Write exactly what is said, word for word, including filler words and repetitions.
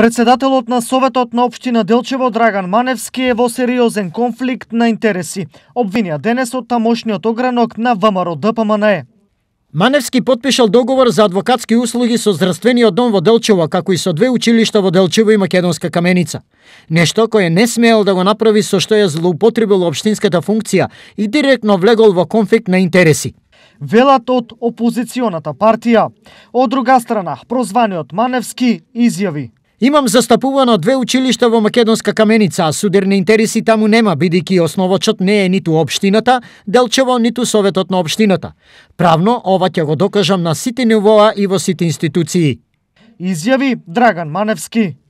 Председателот на Советот на општина Делчево Драган Маневски е во сериозен конфликт на интереси. Обвинија денес од тамошниот огранок на ВМРО Д П М Н Е. Маневски потпишал договор за адвокатски услуги со здравствениот дом во Делчево, како и со две училишта во Делчево и Македонска Каменица. Нешто кое не смеел да го направи, со што ја злоупотребил општинската функција и директно влегол во конфликт на интереси. Велат од опозиционата партија. Од друга страна, прозваниот Маневски изјави: Имам застапувано две училишта во Македонска Каменица, а судирни интереси таму нема, бидејќи основачот не е ниту општината, Делчево, ниту Советот на општината. Правно, ова ќе го докажам на сите нивоа и во сите институции. Изјави Драган Маневски.